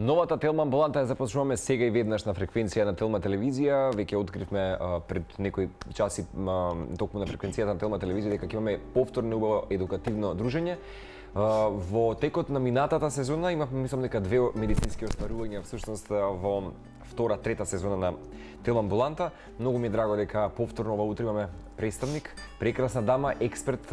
Новата Телма амбуланта ја започнуваме сега и веднаш на фреквенција на Телма телевизија. Веќе откривме пред некои часи токму на фреквенцијата на Телма телевизија дека ќе имаме повторно убаво едукативно дружење. Во текот на минатата сезона имавме, мислам дека, две медицински остварувања всушност во втора, трета сезона на Телма амбуланта. Многу ми е драго дека повторно ова утре имаме представник, прекрасна дама, експерт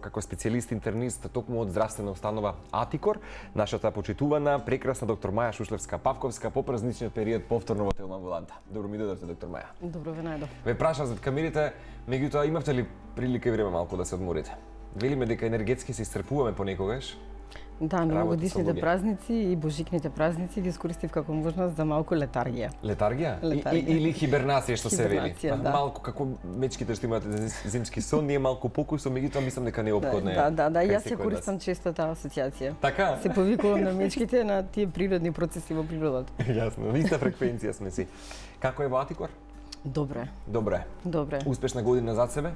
како специјалист интернист токму од здравствена установа Атикор, нашата почитувана прекрасна доктор Маја Шушлевска-Павковска по празничниот период повторно во Телма амбуланта. Добро ми дојдовте, доктор Маја. Добро ве најдов. Ве прашав зад камерите, меѓутоа имавте ли прилика и време малку да се одморите? Велиме дека енергетски се исцрпуваме понекогаш. Да, новогодишните празници и божикните празници ги искористив како можност за малку летаргија. Летаргија? Или хибернација, што се вели. Да. Малку како мечките што имаат зимски сон, ние малку покусо, меѓутоа мислам дека не е опходно. Да, јас ја користам често таа асоциација. Така? Се повикувам на мечките на тие природни процеси во природата. Јасно, иста фреквенција сме си. Како е во Атикор? Добре. Добре. Успешна година зад себе?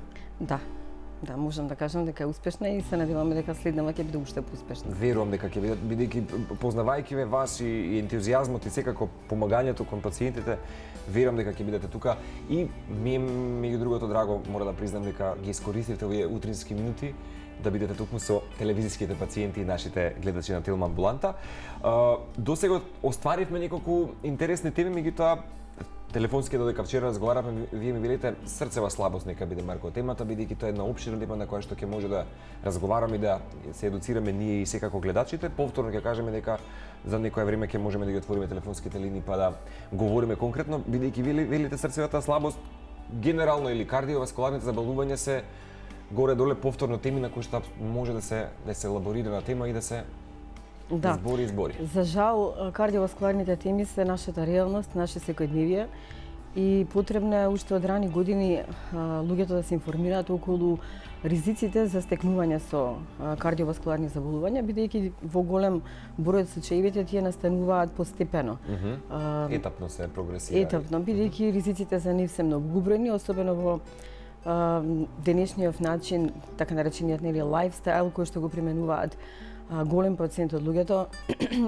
Да, можам да кажам дека е успешна и се надеваме дека следнава ќе биде уште поуспешна. Верувам дека ќе биде, бидејќи познавајќи ве вас и ентузијазмот и секако помагањето кон пациентите, верувам дека ќе бидете тука и ми е меѓу другото драго, мора да признам дека ги искористивте овие утрински минути да бидете токму со телевизиските пациенти и нашите гледачи на Телма амбуланта. Досега остваривме неколку интересни теми, меѓутоа телефонски додека вчера разговаравме, вие ми велите срцева слабост нека биде марко темата, бидејќи тоа е една опширна тема на која што ќе може да разговараме и да се едуцираме ние и секако гледачите. Повторно ќе кажеме дека за некое време ќе можеме да ги отвориме телефонските линии па да говориме конкретно, бидејќи велите срцевата слабост генерално или кардиоваскуларните заболувања се горе-доле повторно теми на кои што може да се елаборира на тема и да се избори. За жал, кардиоваскуларните теми се нашата реалност, наше секојдневие и потребно е уште од рани години луѓето да се информираат околу ризиците за стекнување со кардиоваскуларни заболувања, бидејќи во голем број од случаевите тие настануваат постепено. Етапно се прогресира. Етапно, бидејќи ризиците за нив се многу уброени, особено во денешниот начин, така наречениот лайфстайл кој што го применуваат голем процент од луѓето.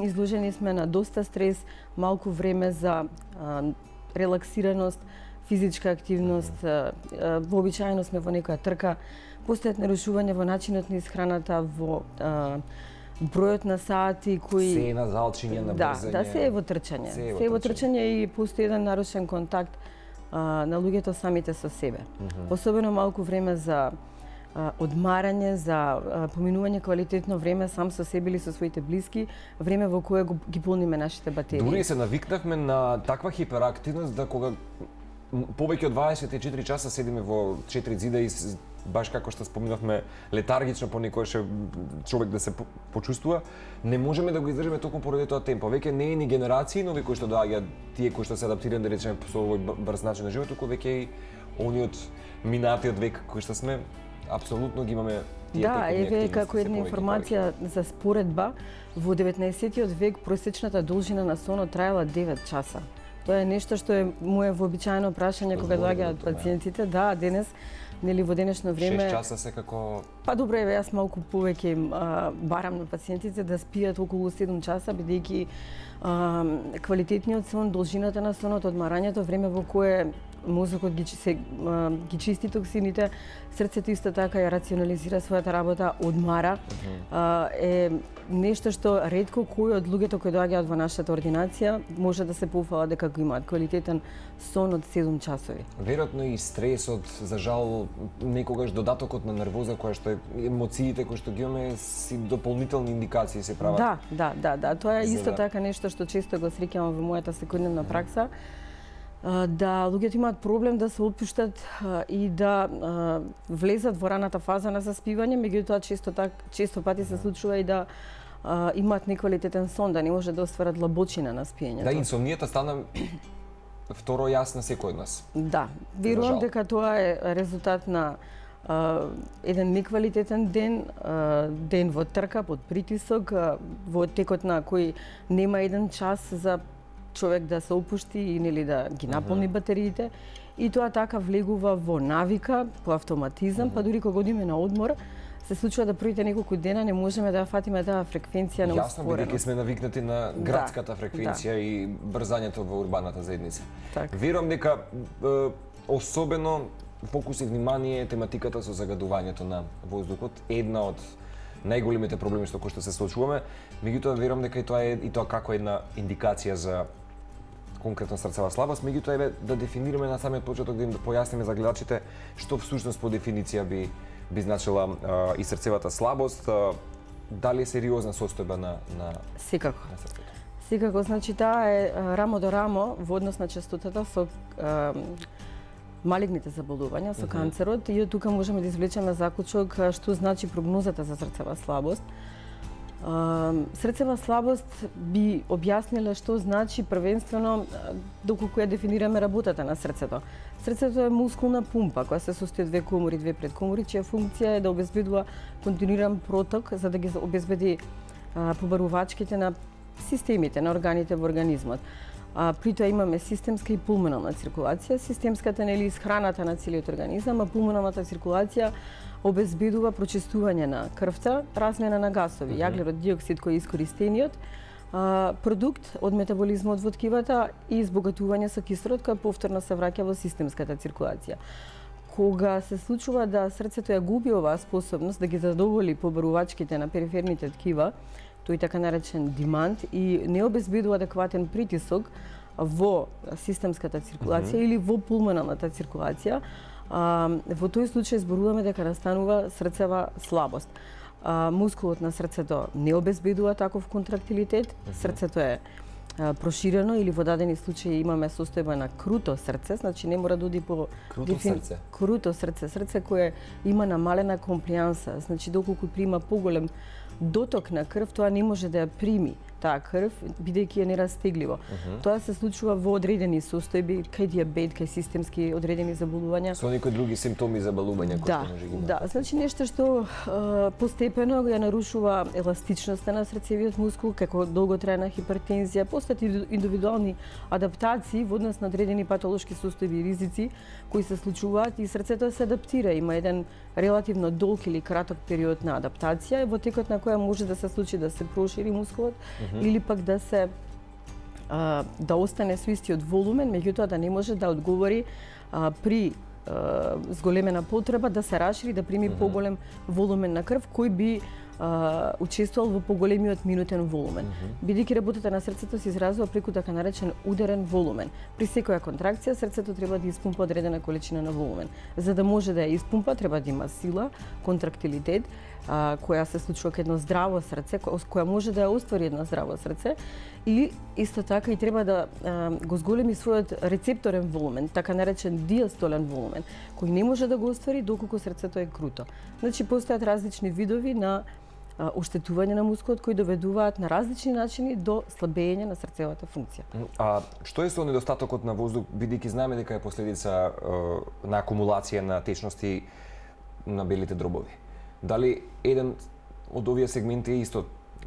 Изложени сме на доста стрес, малку време за релаксираност, физичка активност, вообичаено сме во некоја трка, постојат нарушување во начинот на исхраната, во бројот на сати кои се на залчиње, на брзање. Да, се е во трчање. Се е во трчање и постои еден нарушен контакт на луѓето самите со себе. Особено малку време за одмарање, за поминување квалитетно време сам со себе или со своите блиски, време во кое ги полниме нашите батерии. Дури се навикнавме на таква хиперактивност да кога повеќе од 24 часа седиме во 4 зида и баш како што споминавме летаргично понекогаш човек да се почувствува, не можеме да го издржиме токму поради тоа темпо. Веќе не е ни генерации нови кои што доаѓаат, тие кои што се адаптирани да речеме со овој брз начин на живот, туку веќе и ониот минатиот век кој што сме апсолутно ги имаме тие тековни активности. Да, еве како една информација за споредба, во 19-тиот век просечната должина на сонот траела 9 часа. Тоа е нешто што е мое вообичаено прашање кога доаѓаат пациентите. Да, денес, нели во денешно време 6 часа се како Па добро, еве јас малку повеќе барам на пациентите да спијат околу 7 часа, бидејќи квалитетниот сон, должината на сонот, одмарањето, време во кое мозокот ги чисти токсините, срцето исто така ја рационализира својата работа, одмара, е нешто што ретко кој од луѓето кои доаѓаат во нашата ординација може да се пофала дека го имаат квалитетен сон од 7 часови. Веројатно и стресот, за жал, некогаш додатокот на нервоза која што е емоциите кои што ги имаме си дополнителни индикации се прават. Да, тоа е исто така нешто што често го среќавам во мојата секојдневна пракса. Да луѓето имаат проблем да се опуштат и да влезат во раната фаза на заспивање, меѓутоа често пати се случува и да имаат неквалитетен сон, да не може да остварат длабочина на спиењето. Да, инсомнијата стана второ јас на секој од нас. Да, верувам дека тоа е резултат на еден неквалитетен ден во трка, под притисок, во текот на кој нема еден час за човек да се опушти и нели да ги наполни батериите и тоа така влегува во навика, по автоматизам, па дури кога одиме на одмор, се случува да првите неколку дена не можеме да фатиме таа фреквенција на успорено. Јасно, бидејќи сме навикнати на градската фреквенција и брзањето во урбаната заедница. Верувам дека особено фокус и внимание тематиката со загадувањето на воздухот една од најголемите проблеми со кои што се соочуваме, меѓутоа верувам дека и тоа како една индикација за конкретно срцева слабост, меѓутоа еве да дефинираме на самиот почеток, да им појасниме за гледачите што всушност по дефиниција би значила и срцевата слабост, дали е сериозна состојба на секако. На срцето. Секако, значи таа е рамо до рамо во однос на честотата со малигните заболувања, со канцерот, и од тука можеме да извлечеме заклучок што значи прогнозата за срцева слабост. Срцева слабост би објаснила што значи првенствено доколку ја дефинираме работата на срцето. Срцето е мускулна пумпа која се состои од две комори, две предкомори, чија функција е да обезбедува континуиран проток за да ги обезбеди побарувачките на системите, на органите во организмот. При тоа имаме системска и пулмонална циркулација. Системската нели исхраната на целиот организам, а пулмоналната циркулација обезбедува прочистување на крвта, размена на гасови, јаглерод диоксид кој е искористениот продукт од метаболизмот во ткивата и избогатување со кислород кој повторно се враќа во системската циркулација. Кога се случува да срцето ја губи оваа способност да ги задоволи побарувачките на периферните ткива, тој така наречен демант, и не обезбедува адекватен притисок во системската циркулација или во пулмоналната циркулација, во тој случај зборуваме дека настанува срцева слабост. Мускулот на срцето не обезбедува таков контрактилитет, срцето е проширено или во дадени случаи имаме состојба на круто срце, значи не мора да оди по круто срце кое има намалена комплијанса, значи доколку прима поголем доток на крв, тоа не може да ја прими таа крв, бидејќи е нерастегливо. Тоа се случува во одредени состојби, кај диабет, кај системски одредени заболувања. Со некои други симптоми заболувања кои што може ги има. Да, значи нешто што постепено ја нарушува еластичноста на срцевиот мускул, како долготрајна хипертензија, постојат индивидуални адаптации во однос на одредени патолошки состојби и ризици кои се случуваат и срцето се адаптира, има еден релативно долг или краток период на адаптација, во текот на која може да се случи да се прошири мускулот или пак да се да остане со истиот волумен, меѓутоа да не може да одговори при зголемена потреба да се расшири, да прими поголем волумен на крв кој би учествувал во поголемиот минутен волумен. Бидејќи работата на срцето се изразува преку така наречен ударен волумен. При секоја контракција срцето треба да испумпа одредена количина на волумен. За да може да ја испумпа треба да има сила, контрактилитет, која се случува кај едно здраво срце, која може да ја оствари едно здраво срце, и исто така и треба да го зголеми својот рецепторен волумен, така наречен диастолен волумен, кој не може да го оствари доколку срцето е круто. Значи постојат различни видови на оштетување на мускулот кои доведуваат на различни начини до слабење на срцевата функција. А што е со недостатокот на воздух, бидејќи знаеме дека е последица на акумулација на течности на белите дробови? Дали еден од овие сегменти е исто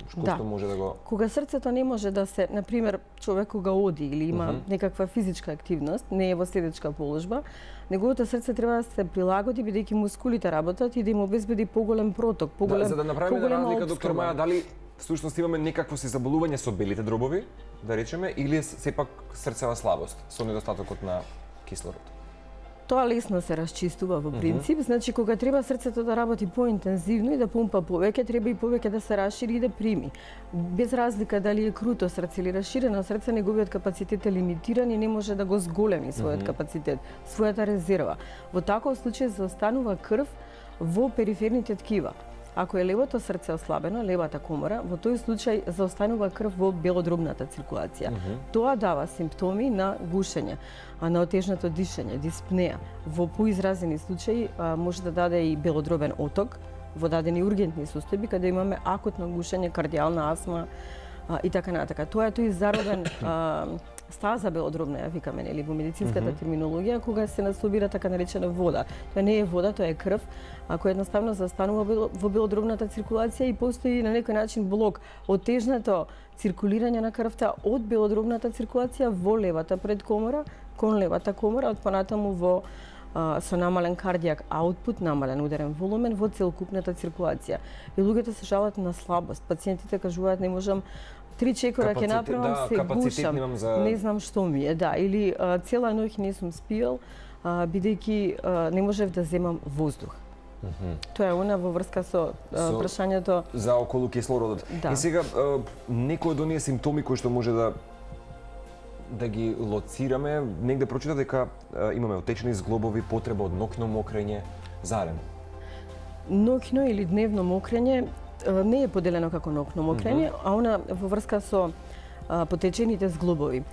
што може да го... Кога срцето не може да се, например, човек кога оди или има некаква физичка активност, не е во седечка положба, неговото срце треба да се прилагоди бидејќи мускулите работат и да им обезбеди поголем проток, поголем за да направиме разлика, доктор Маја, дали всушност имаме некакво си заболување со белите дробови, да речеме, или е сепак срцева слабост со недостатокот на кислород? Тоа лесно се расчистува во принцип, значи кога треба срцето да работи поинтензивно и да пумпа повеќе, треба и повеќе да се расшири и да прими. Без разлика дали е круто срце или расширено срце, неговиот капацитет е лимитиран и не може да го зголеми својот капацитет, својата резерва. Во таков случај заостанува крв во периферните ткива. Ако е левото срце ослабено, левата комора, во тој случај заостанува крв во белодробната циркулација. Тоа дава симптоми на гушење, на отежнато дишење, диспнеа. Во поизразени случаи може да даде и белодробен оток во дадени ургентни состојби каде имаме акутно гушење, кардијална астма и така натака. Тоа е тој заробен стаза белодробна, ја викаме, нели, во медицинската терминологија, кога се насобира така наречена вода. Тоа не е вода, тоа е крв, која едноставно застанува во белодробната циркулација и постои на некој начин блок, отежнато циркулирање на крвта од белодробната циркулација во левата предкомора кон левата комора, од понатаму во со намален кардијак аутпут, намален ударен волумен во целокупната циркулација. И луѓето се жалат на слабост. Пациентите кажуваат не можам 3 чекора ќе направам, се гушам, не знам што ми е, да, или цела ноќ не сум спиел, бидејќи не можев да земам воздух. Тоа е она во врска со прашањето за околу кислородот. Да. И сега некои од оние симптоми кои што може да ги лоцираме, негде прочитав дека имаме отечени зглобови, потреба од ноќно мокрење, зарем. Ноќно или дневно мокрење не е поделено како ноќно мокрење, а она во врска со потечените зглобови.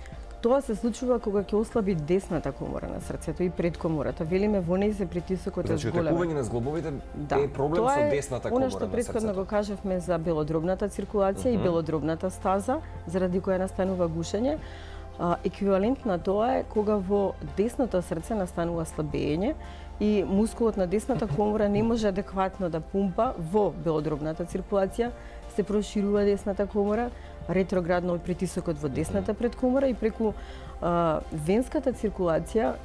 Тоа се случува кога ќе ослаби десната комора на срцето и предкомората. Велиме во неј се притисокот е зголемен. Значи, отекување на зглобовите е проблем со десната комора на срцето. Тоа е она што претходно го кажавме за белодробната циркулација и белодробната стаза, заради која настанува гушење. Еквивалент на тоа е кога во десното срце настанува слабење и мускулот на десната комора не може адекватно да пумпа во белодробната циркулација, се проширува десната комора, ретроградно притисокот во десната предкомора и преку венската циркулација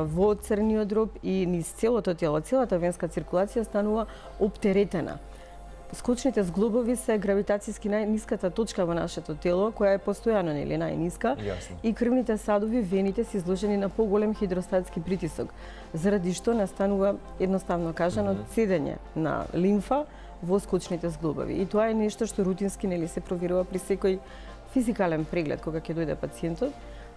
во црниот дроб и низ целото тело, целата венска циркулација станува оптеретена. Скочните зглобови се гравитацијски најниската точка во нашето тело, која е постојано нели најниска, и крвните садови, вените се изложени на поголем хидростатски притисок, заради што настанува, едноставно кажано, цедење на лимфа во скочните зглобови. И тоа е нешто што рутински нели се проверува при секој физикален преглед кога ќе дојде пациентот.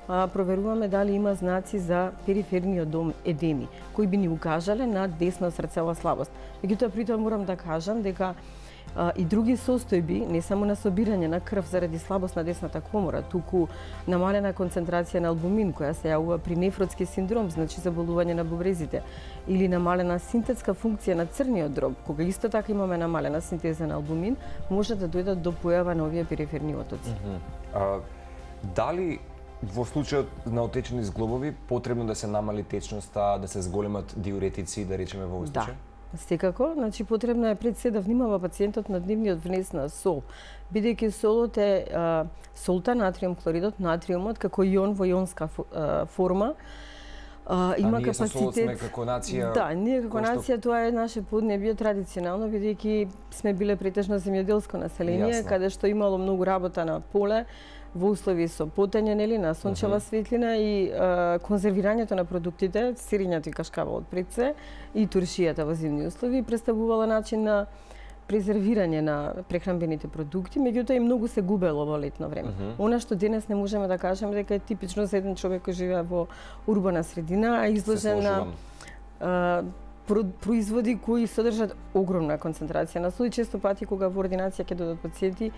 Проверуваме дали има знаци за периферниот дом едеми, кои би ни укажале на десно срцева слабост. Меѓутоа, при тоа морам да кажам дека и други состојби, не само на собирање на крв заради слабост на десната комора, туку намалена концентрација на албумин, која се јавува при нефротски синдром, значи заболување на бубрезите, или намалена синтетска функција на црниот дроб, кога исто така имаме намалена синтеза на албумин, може да дојдат до појава на овие периферни отоци. Дали во случајот на отечени зглобови потребно да се намали течноста, да се зголемат диуретици, да речеме во овој случај? Да, секако. Значи, потребно е пред се да внимава пациентот на дневниот внес на сол, бидејќи солот е солта, натриум хлоридот, натриумот, како ион во ионска форма, има ние капацитет. Ние сме како нација. Да, ние како нација, тоа е наше поднебје традиционално, бидејќи сме биле претежно земјоделско население, каде што имало многу работа на поле, во услови со потење, нели, на сончева светлина и конзервирањето на продуктите, сирењето и кашкавалот пред се и туршијата во зимни услови представувала начин на презервирање на прехранбените продукти, меѓутоа и многу се губело во летно време. Она што денес не можеме да кажеме дека е типично за еден човек кој живее во урбана средина, а изложен на производи кои содржат огромна концентрација на сол. Често пати кога во ординација ќе додат пациенти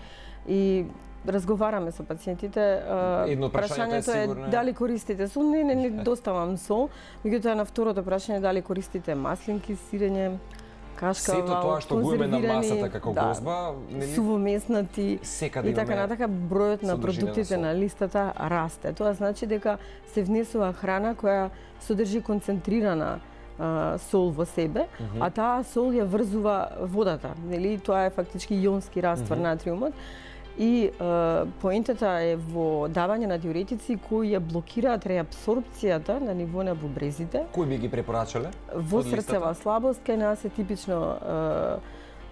и разговараме со пациентите, прашањето е дали користите сол? Не доставам сол. Меѓутоа на второто прашање дали користите маслинки, сирење, кашкавал, сето тоа што го имаме на масата како гозба, сувомеснати и така натака, бројот на продуктите на листата расте. Тоа значи дека се внесува храна која содржи концентрирана сол во себе, а таа сол ја врзува водата, нели? Тоа е фактички ионски раствор натриумот. И поентата е во давање на диуретици кои ја блокираат реабсорбцијата на ниво на бубрезите. Кои би ги препорачале? Во срцева слабост кај нас е типично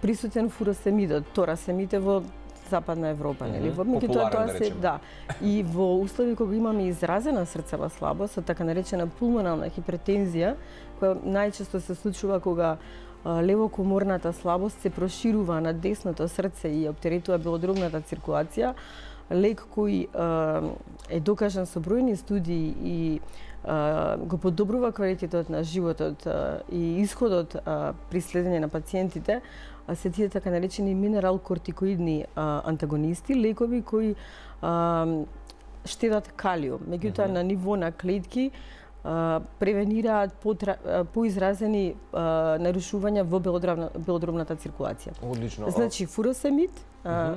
присутен фуросемидот, торасемите во Западна Европа, нели? Популарен, тоа се, да. И во услови кога имаме изразена срцева слабост, така наречена пулмонална хипертензија, која најчесто се случува кога левокоморната слабост се проширува на десното срце и оптеретува белодробната циркулација, лек кој е докажан со бројни студии и го подобрува квалитетот на животот и исходот при следење на пациентите, се тие така наречени минерал-кортикоидни антагонисти, лекови кои штедат калиум. Меѓутоа на ниво на клетки превенираат поизразени нарушувања во белодробната циркулација. Одлично. Значи фуросемид,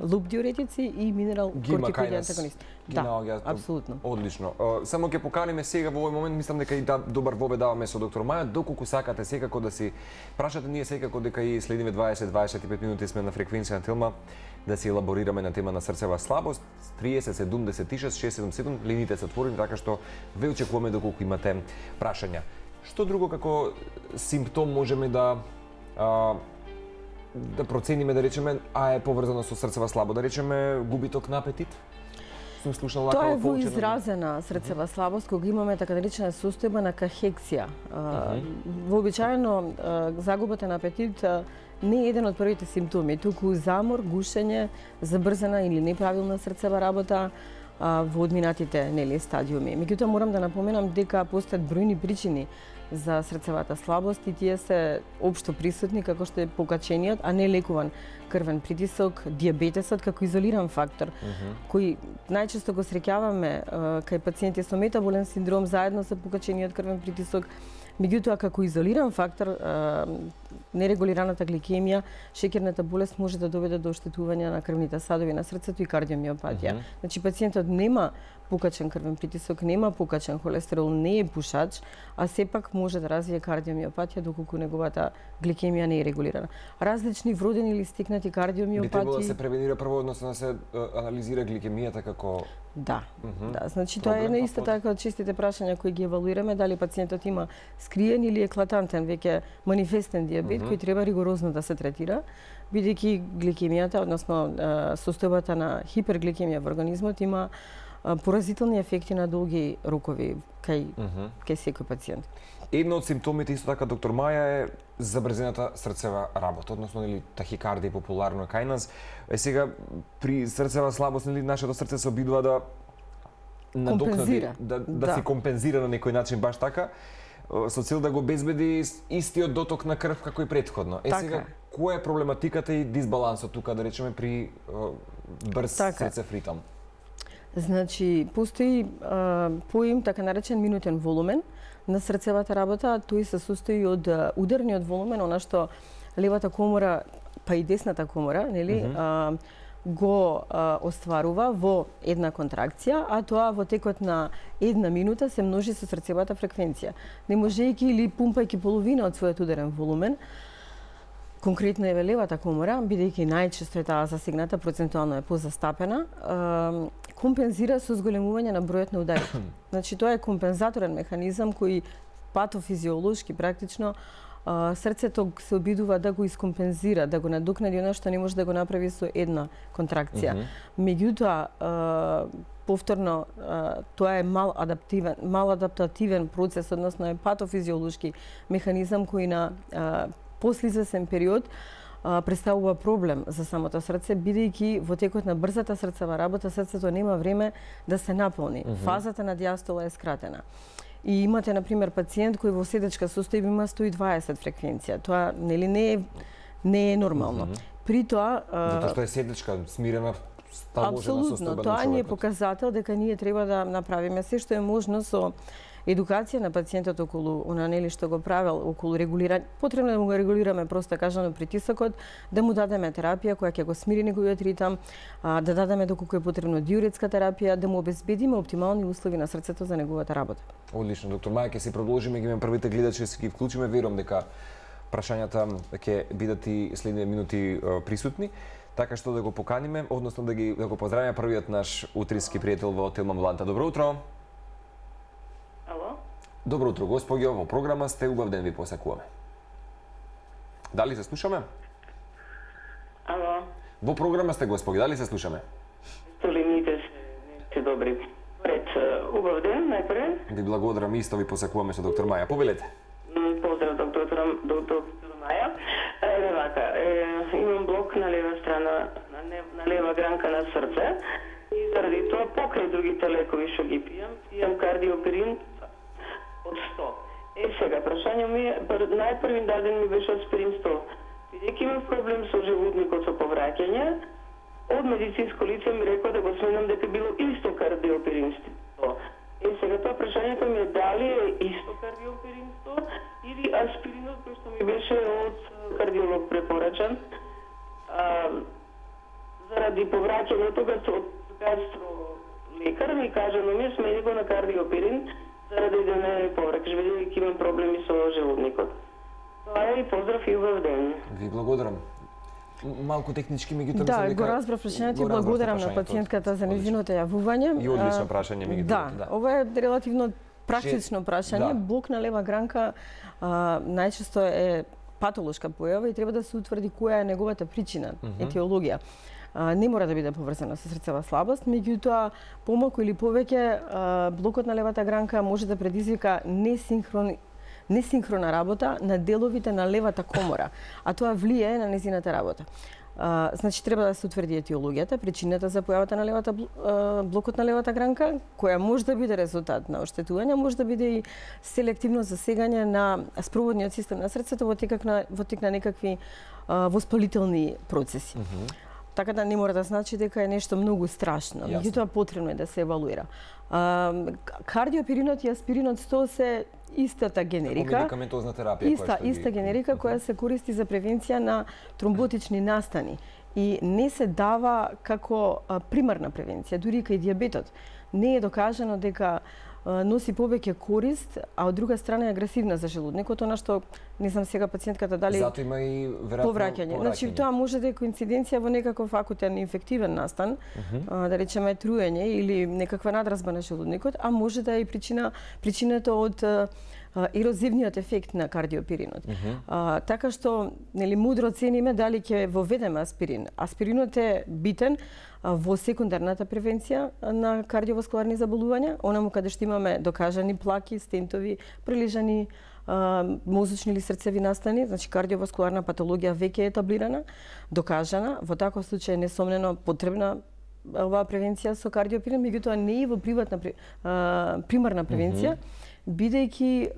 луп диуретици и минерал кортикоидни антагонисти. Да, апсолутно. Одлично. Само ќе поканиме сега во овој момент, мислам дека и добар вовед даваме со доктор Маја, доколку сакате секако да си прашате, ние секако дека и следиме 20-25 минути сме на фреквенција на Телма, да си елаборираме на тема на срцева слабост, 30 76 677, линиите се отворени, така што ве очекуваме доколку имате прашања. Што друго како симптом можеме да процениме, да речеме, е поврзано со срцева слабост, да речеме губиток на апетит? Сум слушал тоа е во изразена срцева слабост, кога имаме така наречена состојба на кахексија. Вообичаено загубата на апетит не е еден од првите симптоми, туку замор, гушење, забрзана или неправилна срцева работа во одминатите стадиуми. Меѓутоа морам да напоменам дека постојат бројни причини за срцевата слабост и тие се општо присутни, како што е покачениот, а не лекуван крвен притисок, дијабетесот како изолиран фактор, кој најчесто го среќаваме кај пациенти со метаболен синдром заедно со покачениот крвен притисок. Меѓутоа, како изолиран фактор, нерегулираната гликемија, шеќерната болест може да доведе до оштетување на крвните садови на срцето и кардиомиопатија. Значи, пациентот нема покачен крвен притисок, нема покачен холестерол, не е пушач, а сепак може да развие кардиомиопатија доколку неговата гликемија не е регулирана. Различни вродени или стекнати кардиомиопатии би требало да се превенира прво, односно да се анализира гликемијата како Да, значи тоа е исто така од честите прашања кои ги евалуираме, дали пациентот има скриен или еклатантен веќе манифестен дијабет кој треба ригорозно да се третира, бидејќи гликемијата, односно состојбата на хипергликемија во организмот има поразителни ефекти на долги рокови кај секој пациент. Едно од симптомите исто така, доктор Маја, е забрзената срцева работа, односно или тахикардија популарно кај нас. Сега при срцева слабост нашето срце се обидува да надокнади, да си компензира на некој начин баш така, со цел да го обезбеди истиот доток на крв како и претходно. Сега која е проблематиката и дисбалансот тука, да речеме, при брз срцев ритам? Значи, постои поим така наречен минутен волумен на срцевата работа. Тој се состои од ударниот волумен, она што левата комора, па и десната комора, го остварува во една контракција, а тоа во текот на една минута се множи со срцевата фреквенција. Не можејќи или пумпајќи половина од својот ударен волумен, конкретно е левата комора, бидејќи најчесто е таа засегната, процентуално е позастапена, компензира со зголемување на бројот на ударите. Значи, тоа е компензаторен механизам кој патофизиолошки практично срцето се обидува да го искомпензира, да го надокнади она што не може да го направи со една контракција. Меѓутоа, повторно, тоа е мал адаптативен процес, односно е патофизиолошки механизам кој на послеизвесен период представува проблем за самото срце, бидејќи во текот на брзата срцева работа срцето нема време да се наполни. Фазата на диастола е скратена. И имате, например, пациент кој во седечка состојба има 120 фреквенција. Тоа не е нормално. При тоа затоа што е седечка, смирена, сталожена состојба на човекот. Тоа ни е показател дека ние треба да направиме се што е можно со едукација на пациентот околу она што го правел, околу регулирање. Потребно да му го регулираме просто кажано притисокот, да му дадеме терапија која ќе го смири неговиот ритам, да дадеме доколку е потребно диуретска терапија, да му обезбедиме оптимални услови на срцето за неговата работа. Одлично, доктор Маја, ќе се продолжиме, ги имаме првите гледачи, ќе ги вклучиме, верувам дека прашањата ќе бидат и следните минути присутни. Така што да го поканиме, односно да го поздравиме првиот наш утрински пријател во Телма Мланта. Добро утро. Добро утро, господи, во програма сте, убав ден ви посакуваме. Дали се слушаме? Ало. Во програма сте, господи, дали се слушаме? Столините се добри. Пред убав ден, најпред. Ви благодарам, исто ви посакуваме со доктор Маја. Повелете. Поздрав, доктор Маја. Еве вака, имам блок на лева страна, на лева гранка на срце и заради тоа покрај другите лекови што ги пијам кардиоперин од 100. Сега, прашање ми е, најпрви даден ми беше аспирин 100. Бидејќи имам проблем со животникот со повраќање, од медицинско лице ми рекоа да го сменам дека било исто кардиоперин 100. Сега тоа прашањето ми е дали е исто кардиоперинство или аспиринот кој што ми беше од кардиолог препорачан. Заради повраќањето од гастро лекар ми кажа, но ми смени го на кардиоперин заради да не повракаш, бидејќи имам проблеми со желудникот. Тоа е и поздрав и убав ден. Ви благодарам. Малку технички, меѓутоа да, го разбрав прашањето и благодарам на пациентката за нејзиното јавување. И одлично прашање, меѓутоа. Да, ова е релативно практично прашање. Блок на лева гранка најчесто е патолошка појава и треба да се утврди која е неговата причина, етиологија. Не мора да биде поврзана со срцева слабост, меѓутоа помалку или повеќе блокот на левата гранка може да предизвика несинхрона работа на деловите на левата комора, а тоа влијае на незината работа. Значи треба да се утврди етиологијата, причината за појавата на блокот на левата гранка, која може да биде резултат на оштетување, може да биде и селективно засегање на спроводниот систем на срцето во тек на некакви воспалителни процеси. Така да не мора да значи дека е нешто многу страшно, меѓутоа потребно е да се евалуира. Кардиоперинот и аспиринот 100 се истата генерика. Медикаментозна терапија иста генерика која се користи за превенција на тромботични настани и не се дава како примарна превенција, дури и кај дијабетот. Не е докажано дека носи повеќе корист, а од друга страна е агресивна за желудникот, она што не знам сега пациентката дали затоа има и веројатно повраќање. Значи тоа може да е коинциденција во некаков акутен инфективен настан, да речеме труење или некаква надразба на желудникот, а може да е и причината од ерозивниот ефект на кардиоперинот. Така што нели мудро цениме дали ќе воведеме аспирин. Аспиринот е битен во секундарната превенција на кардиоваскуларни заболувања, онаму каде што имаме докажани плаки, стентови, прилежани мозочни или срцеви настани, значи кардиоваскуларна патологија веќе е етаблирана, докажана, во таков случај несомнено потребна оваа превенција со кардиоперин, меѓутоа не и во примарна превенција, бидејќи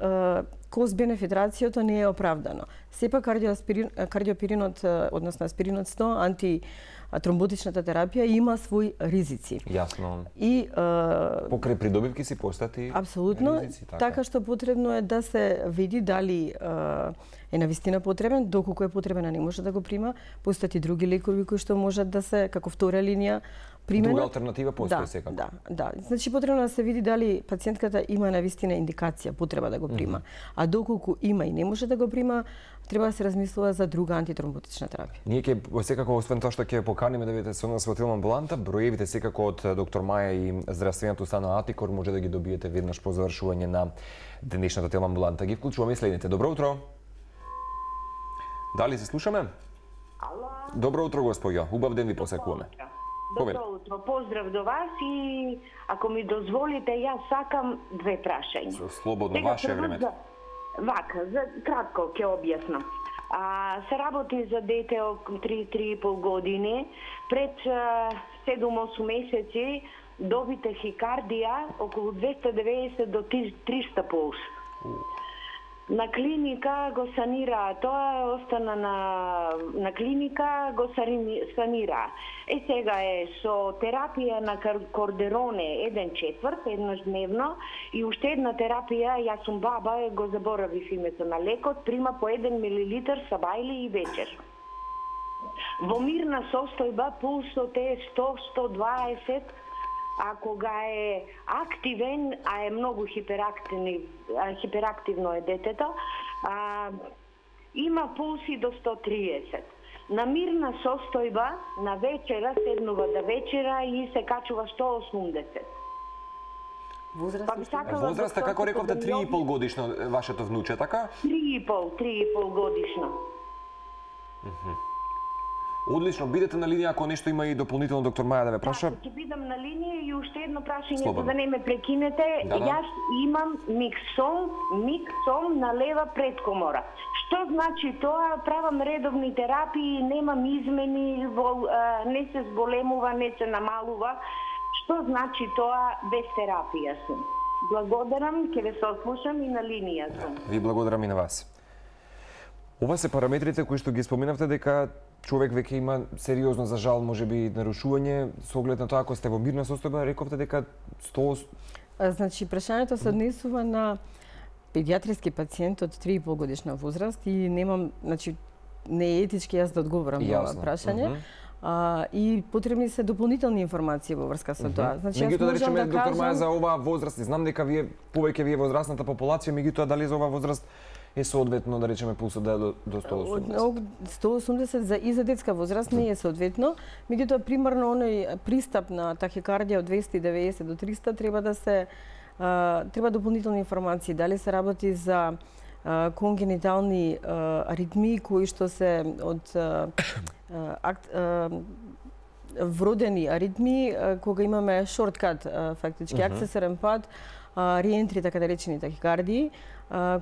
кост-бенефит рацијото не е оправдано. Сепак кардиоперинот, односно аспиринот 100, антитромботичната терапија има свои ризици. Јасно. И покрај придобивки си постати апсолутно ризици, така што потребно е да се види дали е навистина потребен, доколку е потребен, а не може да го прима, постати други лекови кои што можат да се како втора линија примена. Друга алтернатива постои секако. Да. Значи потребно да се види дали пациентката има навистина индикација, потреба да го прима. А доколку има и не може да го прима, треба да се размислува за друга антитромботична терапија. Ние ќе секако освен тоа што ќе поканиме да бидете со нас во амбуланта, броевите секако од доктор Маја и здравствената установа Атикор може да ги добиете веднаш по завршување на денешната амбуланта. Ги вклучуваме следните. Добро утро. Дали се слушаме? Ало. Добро утро, госпоѓо. Убав ден ви посакуваме. Добро утро. Поздрав до вас и ако ми дозволите, јас сакам две прашања. Слободно, ваше време. Вака, за кратко ќе објаснам. Се работи за дете од 3-3,5 години. Пред 7-8 месеци доби тахикардија околу 290 до 300 пулс. На клиника го санира тоа, остана на клиника, го санира. Сега е со терапија на кордероне 1/4, еднаш дневно, и уште една терапија, јас сум баба, го заборавив името на лекот, прима по 1 милилитар сабајли и вечер. Во мирна состојба пулсот е 100-120, а кога е активен, а е многу хиперактивно е детето, има пулси до 130. На мирна состојба, на вечера, седнува да вечера и се качува 180. Возраста, како рековте, 3,5 годишно вашето внуче, така? 3,5 годишно. Одлично, бидете на линија ако нешто има и дополнително доктор Маја да ве праша. Ќе бидам на линија и уште едно прашање за да не ме прекинете. Јас имам миксом на лева предкомора. Што значи тоа? Правам редовни терапии, немам измени, не се зболемува, не се намалува. Што значи тоа без терапија сум? Благодарам, ќе ве сослушам и на линија сум. Ви благодарам и на вас. Ова се параметрите кои што ги споменавте дека човек веќе има сериозно, за жал, можеби нарушување, со оглед на тоа ако сте во мирна состојба, рековте дека 100 Значи, прашањето се однесува на педиатриски пациент од 3,5 годишна возраст и немам, значи, не е етички јас да одговорам на ова прашање. И потребни се дополнителни информации во врска со тоа. Значи, меѓутоа, да речеме, доктор Маја, за оваа возраст, знам дека вие возрастната популација, меѓутоа, дали за оваа возраст е соодветно, да речеме, пулсот да е до 180? 180 и за детска возраст не е соодветно, меѓутоа, примерно, оној пристап на тахикардија од 290 до 300 треба дополнителни информации. Дали се работи за конгенитални аритмии кои што се од вродени аритмии, кога имаме шорткат, фактички, акцесорен пат, реентри, така да речени тахикардии,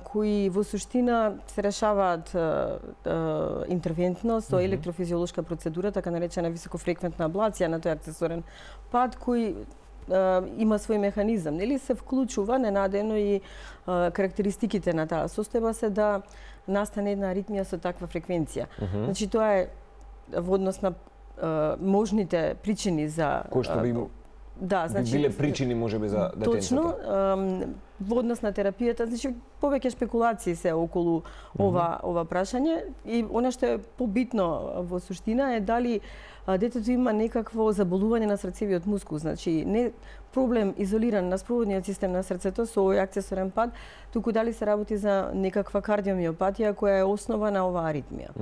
кои во суштина се решаваат интервентно со електрофизиолошка процедура, така наречена високофреквентна аблација на тој акцесорен пат, кој има свој механизам, нели се вклучува ненадено и карактеристиките на таа состојба се да настане една аритмија со таква фреквенција. Значи тоа е во однос на можните причини за кои што би значи биле причини можеби за детенцата. Точно, во однос на терапијата, значи повеќе спекулации се околу ова прашање и она што е побитно во суштина е дали детето има некакво заболување на срцевиот мускул, значи не проблем изолиран на спроводниот систем на срцето со овој акцесорен пат, туку дали се работи за некаква кардиомиопатија која е основа на оваа аритмија.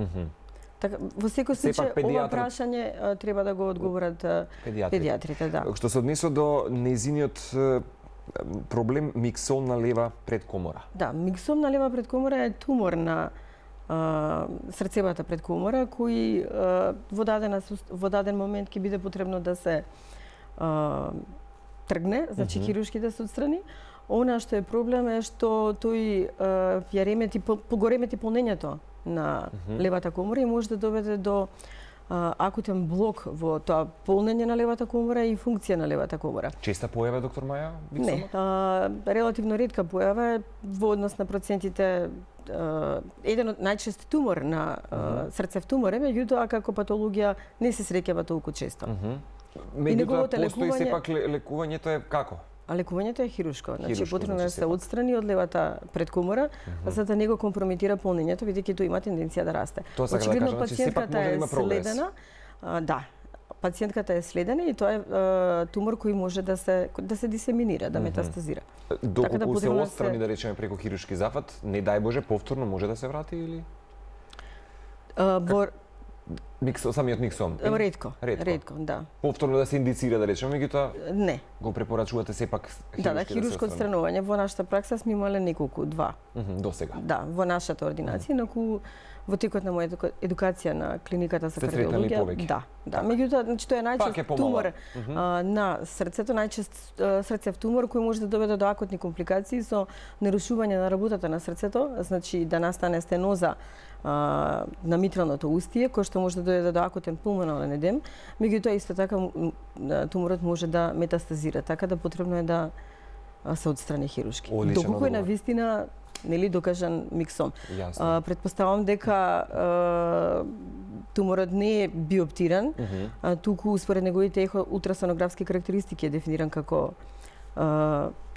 Така, во секој случај, ова прашање треба да го одговорат педиатрите. Да. Што се однесува до незиниот проблем миксон на лева предкомора. Да, миксон на лева предкомора е тумор на срцевата предкомора, кој во даден момент ќе биде потребно да се тргне, значи хируршки да се отстрани. Она што е проблем е што тој ја ремети, погоремети полнењето на левата комора и може да доведе до акутен блок во тоа полнење на левата комора и функција на левата комора. Честа појава, доктор Маја? Не, релативно ретка појава е во однос на процентите. Еден од најчест тумор на срцев тумор е, меѓутоа како патологија не се среќава толку често. Меѓутоа, постои сепак лекувањето е како? А лекувањето е хируршко, значи потребно да се отстрани од левата предкомора, за да не го компрометира полнењето, бидејќи тој има тенденција да расте. Очигледно пациентката е следена. Да, пациентката е следена и тоа е тумор кој може да се дисеминира, да метастазира. Доколку се отстрани, да речеме, преку хируршки зафат, не дај Боже, повторно може да се врати или? Самиот миксон? Ретко, да. Повторно да се индицира, да речеме, меѓутоа не. Го препорачувате сепак хируршки да се хируршко отстранување. Во нашата пракса сме имале неколку, два. До сега. Да, во нашата ординација, инаку во текот на моја едукација на клиниката за кардиологија. Да. Меѓутоа, значи тоа е најчест тумор на срцето, најчест срцев тумор кој може да доведе до акутни компликации со нарушување на работата на срцето, значи да настане стеноза на митралното устие, кој што може да доведе до акутен пулмонален едем, меѓутоа исто така туморот може да метастазира, така да потребно е да се отстрани хируршки. Доколку е навистина нели докажан миксон. Претпоставам дека туморот не е биоптиран, туку според неговите ултрасонографски карактеристики е дефиниран како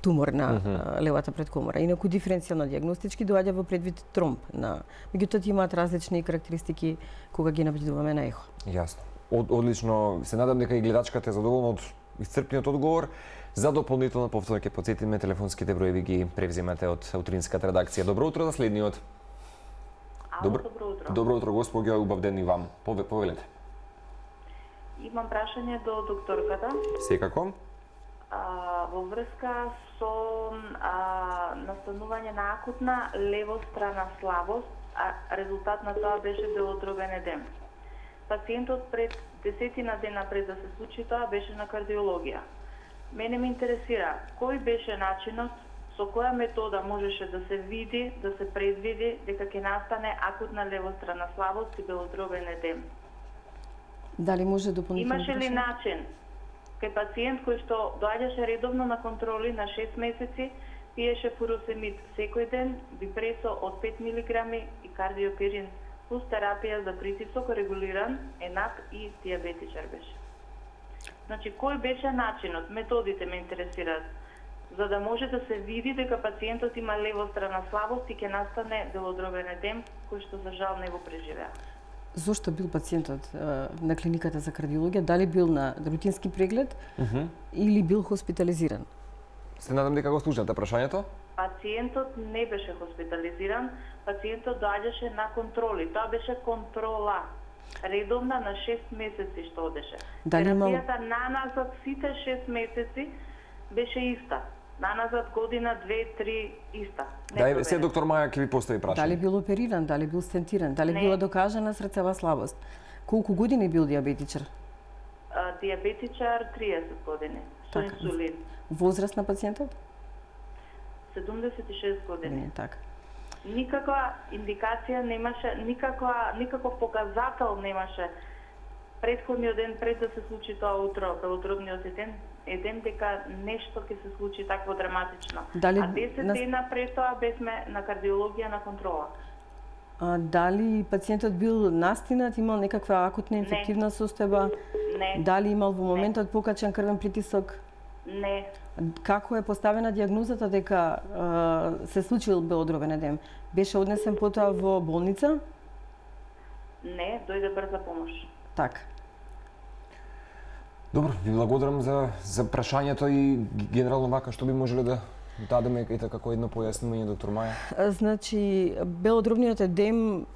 тумор на левата предкомора. Инаку диференцијално диагностички доаѓа во предвид тромб на. Меѓутоа имаат различни карактеристики кога ги набљудуваме на ехо. Јасно. Одлично. Се надам дека и гледачката е задоволна од исцрпниот одговор. За дополнително повторно ќе потсетиме телефонските броеви ги превземате од утринската редакција. Добро утро за следниот. Добро утро. Добро утро, господја, убав ден и вам. Повелете. Имам прашање до докторката. Секако. Во врска со настанување на акутна левострана слабост, а резултат на тоа беше делотробен едем. Пациентот пред 10 дена пред да се случи тоа беше на кардиологија. Мене ме интересира кој беше начинот, со која метода можеше да се види, да се предвиди дека ќе настане акутна левострана слабост и белодробен едем. Дали може дополнително? Имаше ли начин кај пациент кој што доаѓаше редовно на контроли на 6 месеци, пиеше фуросемид секој ден, бипресо од 5 мг и кардиопирин плюс терапија за притисок регулиран, ЕНАК и диабетичар беше. Значи, кој беше начинот, методите ме интересираат. за да може да се види дека пациентот има левострана слабост и ќе настане белодробен едем, кој што за жал не го преживеа. Зошто бил пациентот на клиниката за кардиологија? Дали бил на рутински преглед или бил хоспитализиран? Се надам дека го слушате прашањето. Пациентот не беше хоспитализиран, пациентот доаѓаше на контроли. Тоа беше контрола. Редовна на 6 месеци што одеше. Терапијата наназад сите 6 месеци беше иста. Наназад година, 2-3 иста. Да, се доктор Маја ќе ви постави прашање. Дали бил опериран, дали бил стентиран, дали била докажана срцева слабост? Колку години бил диабетичар? Диабетичар 30 години, со инсулин. Возраст на пациентот? 76 години. Така. Никаква индикација немаше, никаков показател немаше претходниот ден пред да се случи тоа утро, белодробниот едем дека нешто ќе се случи такво драматично. А 10 дена пред тоа бевме на кардиологија на контрола. Дали пациентот бил настинат, имал некаква акутна инфективна состојба? Не. Дали имал во моментот покачен крвен притисок? Не. Како е поставена диагнозата дека се случил белодробен едем? Беше однесен потоа во болница? Не, дојде брза помош. Така. Добро, ви благодарам за прашањето и генерално вака што би можеле да дадеме и така како едно појаснување, доктор Маја. Значи, белодробниот едем,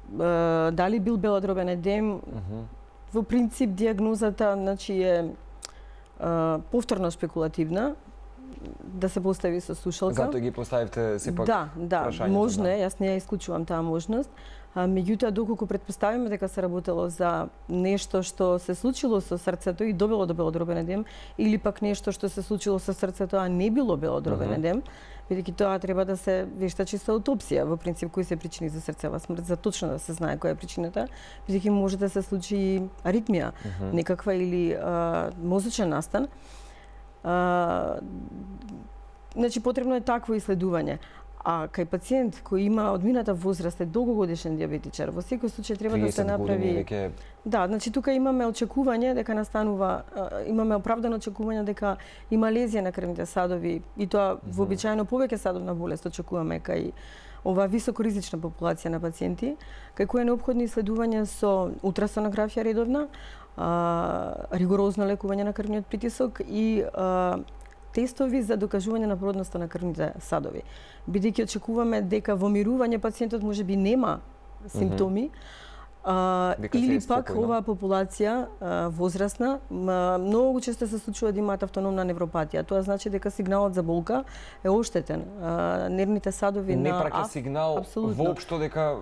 дали бил белодробен едем, во принцип диагнозата значи е повторно спекулативна, да се постави со слушалка. Затоа ги поставивте сепак прашањето. Можно е, јас не ја исклучувам таа можност. Меѓутоа, доколку предпоставиме дека се работело за нешто што се случило со срцето и довело до белодробен едем, или пак нешто што се случило со срцето, а не било белодробен едем, бидејќи тоа треба да се вештачи со аутопсија, во принцип, кои се причини за срцева смрт, за точно да се знае која е причината, бидејќи може да се случи аритмија, некаква или мозочен настан. Значи, потребно е такво исследување. А кај пациент кој има одмината возраст, е долгогодишен диабетичар, во секој случај треба да се направи. Да, значи тука имаме очекување дека настанува, имаме оправдано очекување дека има лезија на крвните садови и тоа вообичаено повеќе садовна болест очекуваме кај оваа високоризична популација на пациенти, кај кои е неопходно исследување со ултрасонографија редовна, ригорозно лекување на крвниот притисок и тестови за докажување на плодноста на крвните садови. Бидејќи очекуваме дека во мирување пациентот можеби нема симптоми, или пак оваа популација возрастна многу често се случува да имаат автономна невропатија. Тоа значи дека сигналот за болка е оштетен. Нервните садови не праќа сигнал воопшто дека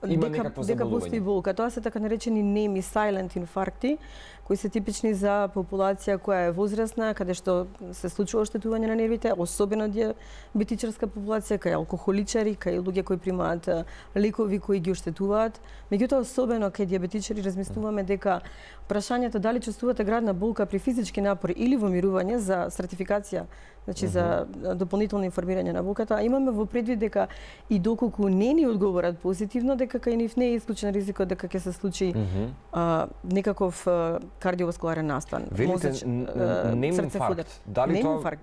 има некакво заболување. Дека постои болка. Тоа се така наречени неми silent инфаркти, кои се типични за популација која е возрастна, каде што се случува оштетување на нервите, особено диабетичарска популација, кај алкохоличари, кај луѓе кои примаат лекови кои ги оштетуваат. Меѓутоа, особено кај диабетичари размислуваме дека прашањето дали чувствувате градна болка при физички напор или во мирување за стратификација, значи за дополнително информирање на болката, имаме во предвид дека и доколку не ни одговорат позитивно, дека кај нив не е исклучен ризикот дека ќе се случи некаков кардиоваскуларен настан. Велите неминфаркт. Дали тоа,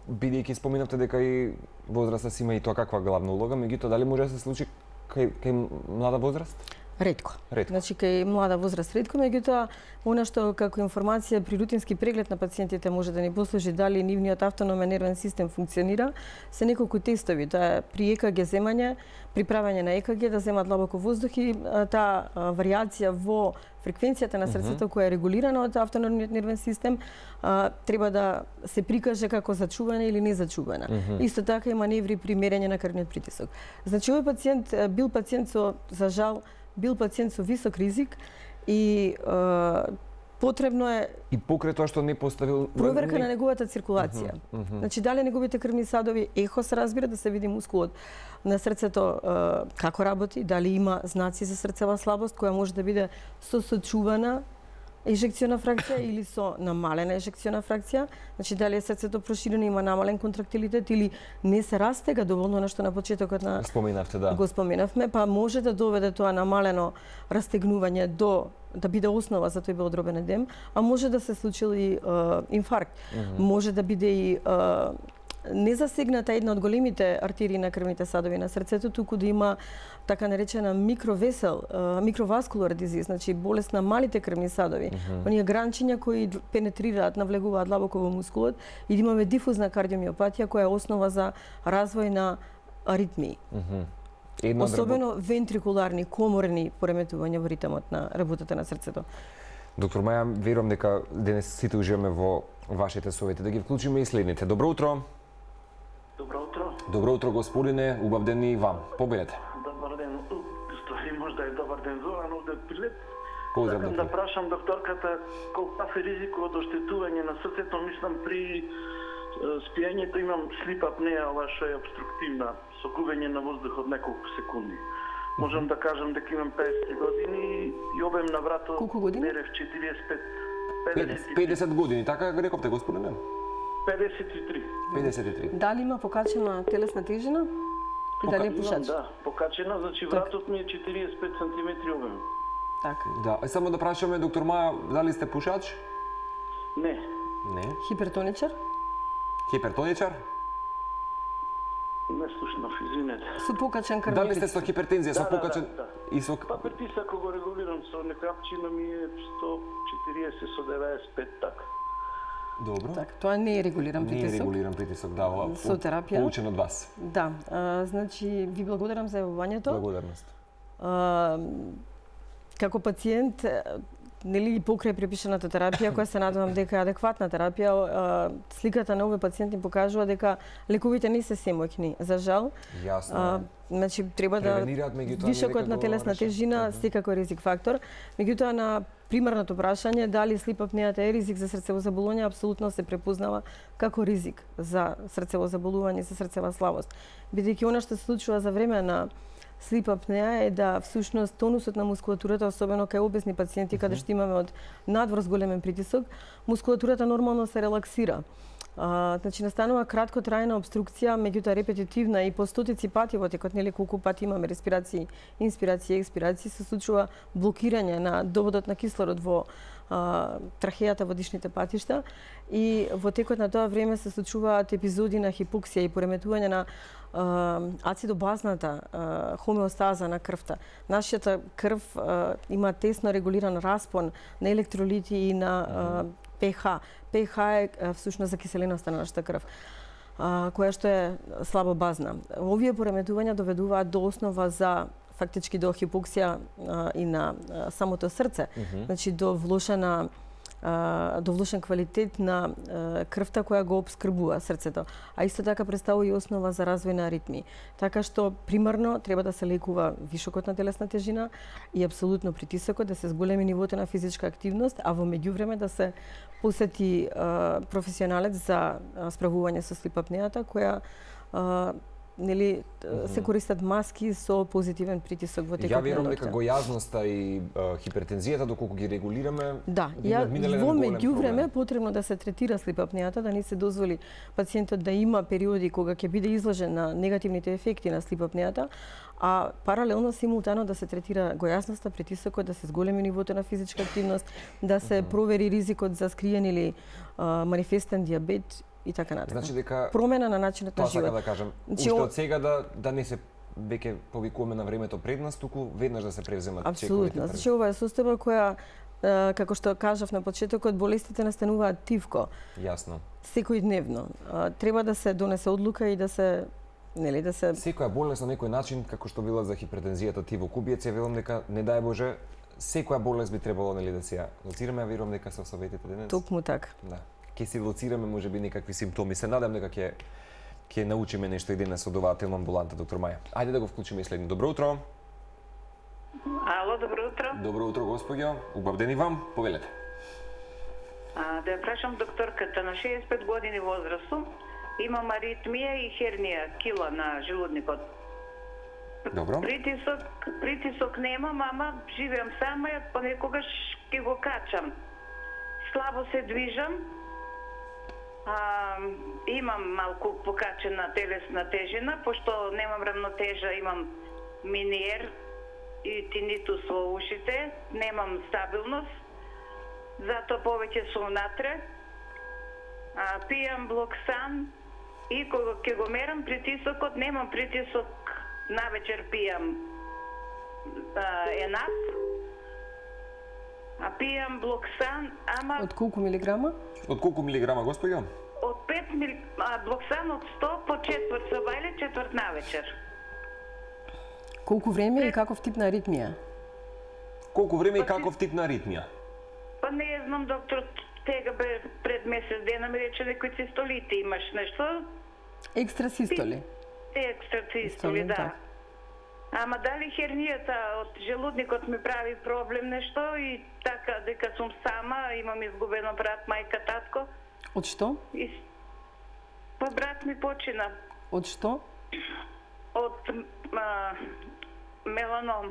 бидејќи споминавте дека и возраста си има и тоа каква главна улога, меѓутоа дали може да се случи кај млада возраст? Ретко. Значи, кај млада возраст ретко, меѓутоа, она што како информација при рутински преглед на пациентите може да ни послужи дали нивниот автономен нервен систем функционира, се неколку тестови. Тоа е при ЕКГ земање, при правење на ЕКГ да земат длабоко воздух и таа варијација во фреквенцијата на срцето која е регулирана од автономниот нервен систем треба да се прикаже како зачувана или незачувана. Исто така и маневри при мерење на крвниот притисок. Значи, овој пациент бил пациент со, за жал, бил пациент со висок ризик и потребно е и покрај тоа што не поставил проверка на неговата циркулација. Значи, дали неговите крвни садови ехо се разбира да се види мускулот на срцето како работи, дали има знаци за срцева слабост која може да биде сосочувана ежекциона фракција или со намалена ежекциона фракција, значи дали е срцето проширено, има намален контрактилитет или не се растега доволно, на што на почетокот на споменавте, да. Го споменавме, па може да доведе тоа намалено растегнување до да биде основа за тој белодробен едем, а може да се случил и инфаркт. Може да биде и незасегната една од големите артерии на крвните садови на срцето, туку да има така наречена микровесел, микроваскулар дизиз, значи болест на малите крвни садови. Оние гранчиња кои пенетрираат, навлегуваат длабоко во мускулот и да имаме дифузна кардиомиопатија која е основа за развој на аритмии. Особено вентрикуларни, коморни пореметувања во ритмот на работата на срцето. Доктор Маја, верувам дека денес сите уживаме во вашите совети. Да ги вклучиме и следните. Добро утро. Добро утро. Добро утро, господине. Убав ден и вам. Победете. Добар ден. Стои можда е добар ден Зоран овде прилет. Поздрав, Сакам доктор. да прашам докторката колку е ризикот од оштетување на срцето, мислам при спиењето имам слип апнеа, ова што е обструктивна, со губење на воздух од неколку секунди. Можам да кажам дека имам 50 години и обем на врато Колку години? мерев 45. 50 години, така го рековте, господине? 53. 53. Дали има покачена телесна тежина? И дали е пушач? Да, покачена, значи вратот ми е 45 см обем. Така. Да, само да прашаме, доктор Маја, дали сте пушач? Не. Не. Хипертоничар? Хипертоничар? Не слушнав, извинете. Со покачен крвен Дали сте притисок? со хипертензија, со покачен да. и со Па притисакот го регулирам со некапчина ми е 140 со 95 така. Добро. Така, тоа не е регулиран Не е притисок. регулиран притисок, да, ова Со терапија? Поучен од вас. Да, значи ви благодарам за јавувањето. Благодарност. Како пациент, нели покрај препишаната терапија, која се надевам дека е адекватна терапија, сликата на овој пациент ни покажува дека лековите не се семоќни. За жал, Јасно. значи треба да Превенираат, меѓутоа вишокот не на дека телесна го тежина секако е ризик фактор. Меѓутоа на примарното прашање дали слип апнеата е ризик за срцево заболување, апсолутно се препознава како ризик за срцево заболување, за срцева слабост. Бидејќи она што се случува за време на слип апнеа е да всушност тонусот на мускулатурата, особено кај обесни пациенти каде што имаме од надвор големен притисок, мускулатурата нормално се релаксира. Значи настанува краткотрајна обструкција, меѓутоа репетитивна и по стотици пати во текот, нели колку пати имаме респирации, инспирации, експирации, се случува блокирање на доводот на кислород во трахејата, во дишните патишта и во текот на тоа време се случуваат епизоди на хипоксија и пореметување на ацидобазната хомеостаза на крвта. Нашата крв има тесно регулиран распон на електролити и на pH. pH е всушност закиселеноста на нашата крв, која што е слабо базна. Овие пореметувања доведуваат до основа за фактички до хипоксија и на самото срце, значи до влошен квалитет на крвта која го обскрбува срцето, а исто така представува и основа за развој на аритмии. Така што примарно треба да се лекува вишокот на телесна тежина и апсолутно притисокот, да се зголеми нивото на физичка активност, а во меѓувреме да се посети професионалец за справување со слип апнеата, која нели се користат маски со позитивен притисок во текот на Ја верувам ноќта. дека гојазноста и хипертензијата доколку ги регулираме, Да, во меѓувреме потребно да се третира слип апнеата, да не се дозволи пациентот да има периоди кога ќе биде изложен на негативните ефекти на слип апнеата, а паралелно симултано да се третира гојазноста, притисокот, да се зголеми нивото на физичка активност, да се провери ризикот за скриен или манифестен диабет и така натаму. значи дека Промена на начинот на тоа сака живот. да кажам, Значи, уште од сега да не се веќе повикуваме на времето пред нас, туку веднаш да се превземат чековите. Апсолутно. Значи ова е состојба која како што кажав на почетокот, болестите настануваат тивко. Јасно. Секојдневно. Треба да се донесе одлука и да се Секоја болест на некој начин, како што била за хипертензијата ти во Кубиец, ја велам дека не дај Боже, секоја болест би требало нели да се ја лоцираме, а верувам дека со советите денес. токму така. Да. Ќе си лоцираме можеби некакви симптоми. Се надам дека ќе научиме нешто и денес од оваа телоамбуланта, доктор Маја. Ајде да го вклучиме и следни. Добро утро. Ало, добро утро. Добро утро, господјо. Убав ден и вам. Повелете. Да ја прашам докторката, на 65 години возраст сум, имам аритмија и хернија, кила на желудникот. Добро. Притисок немам, ама живеам сама, понекогаш ќе го качам. слабо се движам. Имам малку покачена телесна тежина, пошто немам равнотежа, имам миниер и тинитус во ушите, немам стабилност, затоа повеќе сум натре. Пијам блоксан и кога ќе го мерам притисокот, немам притисок, навечер пијам енап, пијам блоксан, ама... Од колку милиграма? Од колку милиграма, господја? Од 5 блоксан од 100 по четврт собајле, четврт навечер. Колку време и каков тип на аритмија? Колку време и каков тип на аритмија? Па не знам, доктор, тега бе пред месец дена ми рече некои цистолити имаш нешто. Екстрасистоли. Екстрасистоли, да. Ама дали хернијата од желудникот ми прави проблем нешто и така дека сум сама, имам изгубено брат, мајка, татко. Од што? Па брат ми почина. Од што? Од меланом.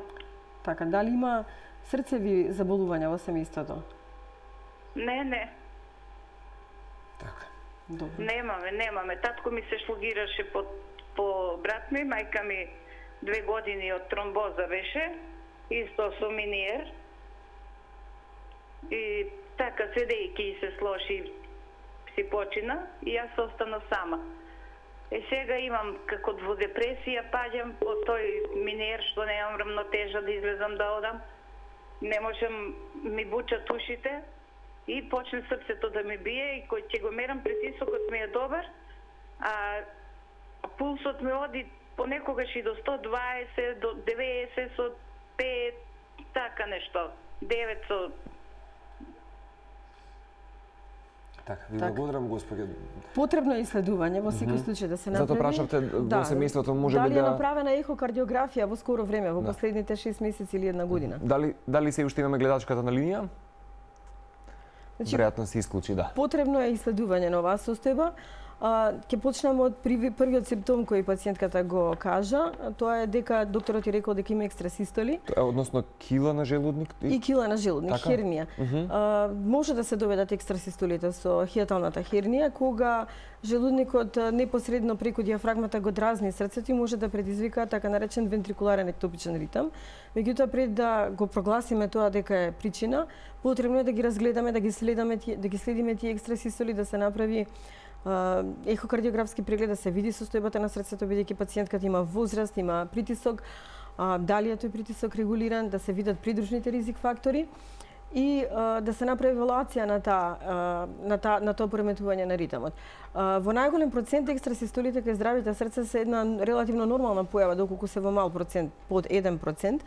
Така, дали има срцеви заболувања во семејството? Не. Така. Добро. Немаме. Татко ми се шлогираше по брат ми, мајка ми 2 години од тромбоза беше, исто со миниер. И така, седејќи се сложи, си почина и јас останав сама. Сега имам како во депресија, паѓам од тој миниер што немам равнотежа да излезам да одам. Не можам, ми бучат ушите и почне срцето да ми бие и кој ќе го мерам притисокот ми е добар, а пулсот ми оди понекогаш и до 120, до 90 со 5, така нешто. 9 со... Така, ви благодарам, господи. Потребно е исследување во секој случај да се направи. Затоа прашавте во семејството може би да... Дали е направена ехокардиографија во скоро време, во последните 6 месеци или 1 година? Дали се уште имаме гледачката на линија? Значи, веројатно се исклучи, да. Потребно е исследување на оваа состојба. Ќе почнеме од првиот симптом кој пациентката го кажа, тоа е дека докторот ја рекол дека има екстрасистоли. Односно кила на желудник? И кила на желудник, така? хернија. Може да се доведат екстрасистолите со хијаталната хернија, кога желудникот непосредно преку диафрагмата го дразни срцето и може да предизвика така наречен вентрикуларен ектопичен ритам. Меѓутоа, пред да го прогласиме тоа дека е причина, потребно е да ги разгледаме, да ги следиме тие екстрасистоли, да се направи ехокардиографски преглед, да се види состојбата на срцето, бидејќи пациентката има возраст, има притисок, дали е тој притисок регулиран, да се видат придружните ризик фактори и да се направи евалуација на тоа пореметување на ритамот. Во најголем процент екстрасистолите кај здравите срца се една релативно нормална појава, доколку се во мал процент, под 1%.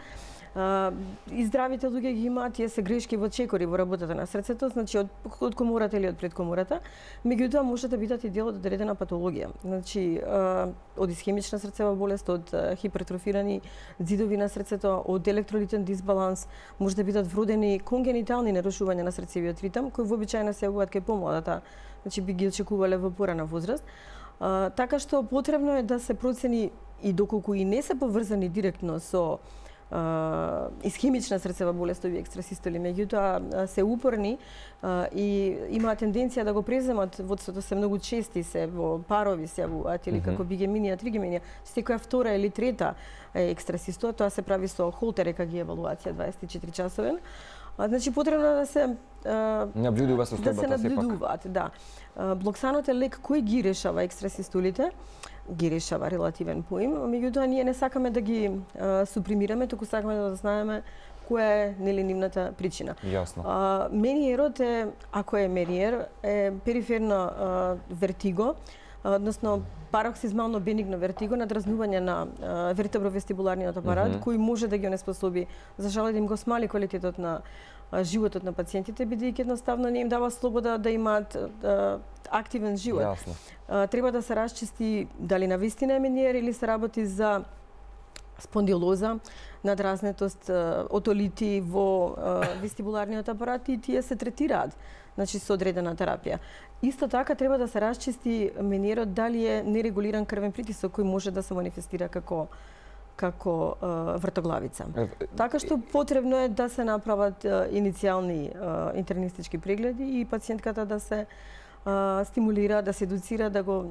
И здравите луѓе ги имаат, тие се грешки во чекори во работата на срцето, значи од комората или од предкомората, меѓутоа може да бидат и дел од одредена патологија. Значи, од исхемична срцева болест, од хипертрофирани ѕидови на срцето, од електролитен дисбаланс, може да бидат вродени конгенитални нарушувања на срцевиот ритам, кои вообичаено се јавуваат кај помладата, значи би ги очекувале во порана возраст. Така што потребно е да се процени и доколку и не се поврзани директно со исхемична срцева болест овие екстрасистоли, меѓутоа се упорни и имаат тенденција да го преземат, водството се многу чести, се во парови се јавуваат или како бигеминија, тригеминија, секоја втора или трета екстрасистола, тоа се прави со холтер ЕКГ евалуација 24 часовен. Значи потребно да се наблюдува состојбата сепак. Да. Блоксанот е лек кој ги решава екстрасистолите, ги решава релативен поим, меѓутоа ние не сакаме да ги супримираме, туку сакаме да знаеме која е нивната причина. Јасно. Мениерот е, ако е мениер, е периферно вертиго, односно пароксизмално бенигно вертиго, надразнување на вертебровестибуларниот апарат, кој може да ги онеспособи, за жал да им го смали квалитетот на животот на пациентите, бидејќи едноставно не им дава слобода да имаат активен живот. Јасно. Треба да се расчисти дали навистина е мениер или се работи за спондилоза, надразнетост, отолити во вестибуларниот апарат и тие се третираат, значи со одредена терапија. Исто така треба да се расчисти мениерот дали е нерегулиран крвен притисок кој може да се манифестира како како вртоглавица. Така што потребно е да се направат иницијални интернистички прегледи и пациентката да се стимулира, да се едуцира, да го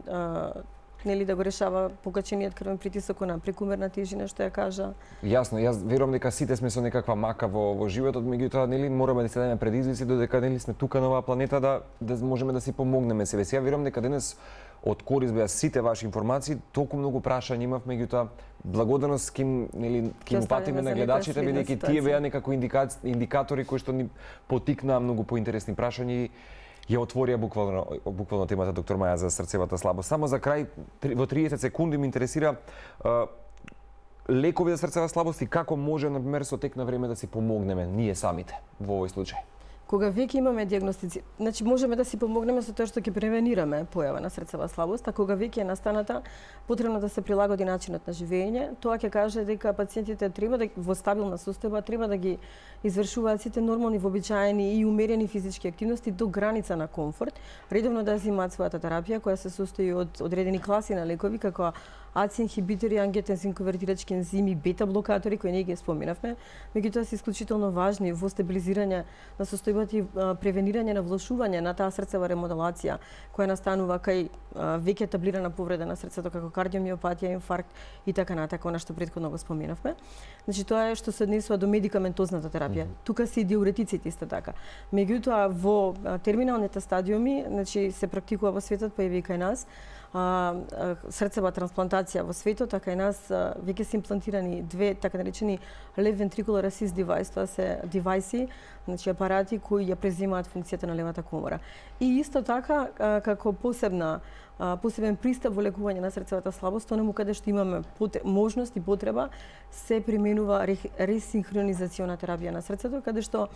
да го решава покачениот крвен притисок, на прекумерна тежина, што ја кажа. Јасно, јас верувам дека сите сме со некаква мака во животот, меѓутоа мораме да се дадеме предизвици додека сме тука на оваа планета да можеме да си помогнеме себе. Ја верувам дека денес од корист беа сите ваши информации, толку многу прашања имав, меѓутоа благодарност ким упатиме на гледачите, бидејќи тие беа некако индикатори кои што ни потикнаа многу поинтересни прашања. Ја отворија буквално темата доктор Маја за срцевата слабост. Само за крај, во 30 секунди ме интересира лекови за срцева слабост и како може, например, со тек на време да си помогнеме ние самите во овој случај. Кога веќе имаме диагностици, значи можеме да си помогнеме со тоа што ќе превенираме појава на срцева слабост, а кога веќе е настаната, потребно да се прилагоди начинот на живење. Тоа ќе каже дека пациентите треба да во стабилна состојба треба да ги извршуваат сите нормални, вообичаени и умерени физички активности до граница на комфорт, редовно да земаат својата терапија која се состои од одредени класи на лекови како АЦИ инхибитори, ангиотензин конвертирачки ензими, бета блокатори кои ние ги споменавме, меѓутоа се исклучително важни во стабилизирање на состојбата и превенирање на влошување на таа срцева ремоделација која настанува кај веќе етаблирана повреда на срцето како кардиомиопатија, инфаркт и така натака, она што претходно го споменавме. Значи тоа е што се однесува до медикаментозната терапија. Тука се и диуретиците исто така. Меѓутоа во терминалните стадиуми, значи се практикува во светот, па и кај нас, срцева трансплантација во светот, а кај нас веќе се имплантирани две така наречени left ventricular assist device, тоа се девајси, значи апарати кои ја преземаат функцијата на левата комора. И исто така како посебен пристап во лекување на срцевата слабост, онаму каде што имаме можност и потреба, се применува ресинхронизациона терапија на срцето, каде што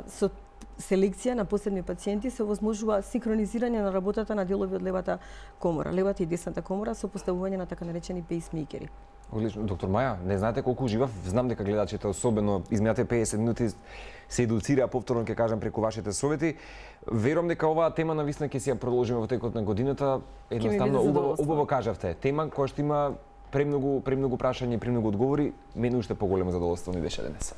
со селекција на посебни пациенти се овозможува синхронизирање на работата на делови од левата комора, левата и десната комора со поставување на така наречени пейсмейкери. Одлично, доктор Маја, не знаете колку уживав, знам дека гледачите особено изминатите 50 минути се едуцираа, повторно ќе кажам преку вашите совети. Верувам дека оваа тема навистина ќе си ја продолжиме во текот на годината. Едноставно убаво кажавте, тема која што има премногу прашања и премногу одговори, мене уште поголемо задоволство ми беше денес.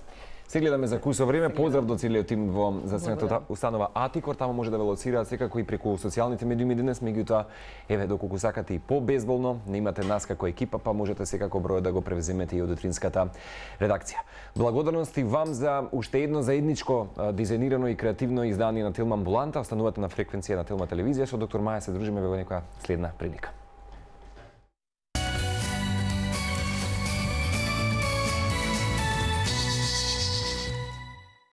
Се гледаме за кусо време. Поздрав до целиот тим во здравствената установа Атикор, таму може да ве лоцираат секако и преку социјалните медиуми денес, меѓутоа еве доколку сакате и побезболно, не имате нас како екипа, па можете секако бројот да го превземете и од утринската редакција. Благодарности вам за уште едно заедничко дизајнирано и креативно издание на Телма Амбуланта. Останувате на фреквенција на Телма телевизија, со доктор Маја се дружиме во некоја следна прилика.